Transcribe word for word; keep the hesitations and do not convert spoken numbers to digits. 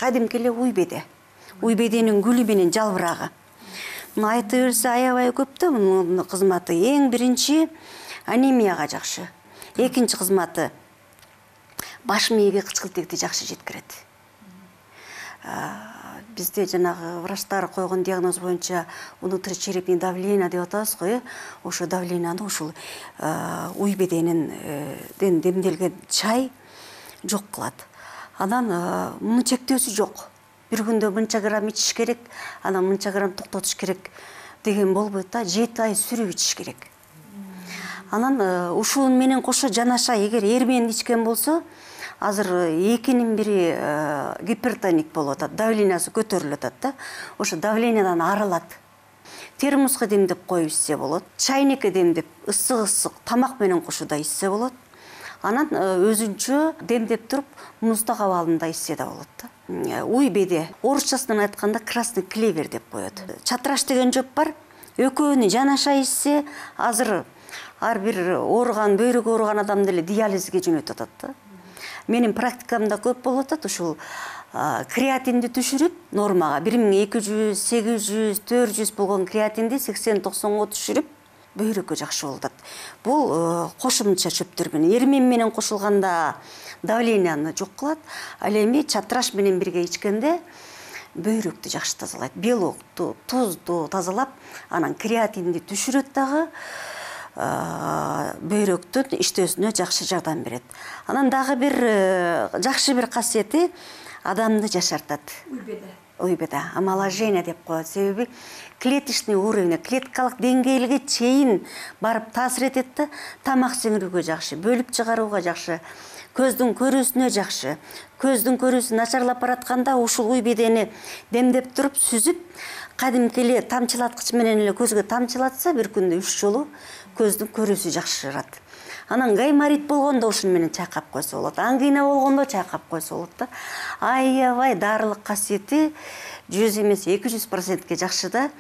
кадимки эле уй беде. Уй беденин гүлү менен жалбырагы. Муну айта берсе аябай көп да мунун кызматы. Эң биринчи анемияга жакшы. Экинчи кызматы баш мээге кычкылтекти жакшы жеткирет. Бизде жанагы врачтар койгон диагноз боюнча внутричерепный давление деп атабыз го, ошо давленияны ушул уй беденин демделген чай жок кылат. Анан мунун чектөөсү жок. Бир күндө мынча грамм ичиш керек, анан мынча грамм токтотуш керек деген болбойт да, жети ай сүрүп ичиш керек. Анан ушул менен кошо жанаша эгер эр менен ичкен болсо, азыр экинин бири гипертоник болуп атат, давлениясы көтөрүлүп атат да. Ошо давлениядан арылат. Термоска демдеп коюп ичсе болот. Чайникке демдеп ысык-ысык тамак менен кошууда ичсе болот. Анан өзүнчө демдеп туруп муздак абалында ичсе да болот да. Уй беде орусчасынан айтканда красный клевер деп коет. Чатраш деген жоп бар. Экөөнү жанаша ичсе, азыр ар бир ооруган, бөйрөгү ооруган адамды эле диализге жөнөтүп атат да. Менин практикамда көп болуп атат, ушул креатинди түшүрүп нормага бир миң эки жүз, сегиз жүз, төрт жүз болгон креатинди сексен токсонго түшүрүп бөйрөккө жакшы болуп атат. Бул кошумча чөптөр менен, эрмен менен кошулганда давленияны жок кылат, ал эми чатраш менен бирге ичкенде бөйрөктү жакшы тазалайт. Белокту, тузду тазалап, анан креатинди түшүрөт дагы, бөйрөктүн иштөөсүнө жакшы жардам берет. Анан дагы бир жакшы бир касиети адамды жашартат. Уй беде, омоложение деп коет. Себеби клеточный уровень, клеткалык деңгээлге чейин барып таасир этет да, тамак сиңирүүгө жакшы, бөлүп чыгарууга жакшы, көздүн көрүүсүнө жакшы. Көздүн көрүүсү начарлап баратканда ушул уй бедени демдеп туруп сүзүп, кадимки эле тамчылаткыч менен эле көзгө тамчылатса, бир күндө үч жолу көздүн көрүүсү жакшырат. Анан гайморит болгондо ушун менен чайкап койсо болот. Ангина болгондо чайкап койсо болот да. Аябай дарылык касиети жүз эмес эки жүз процентке жакшы да.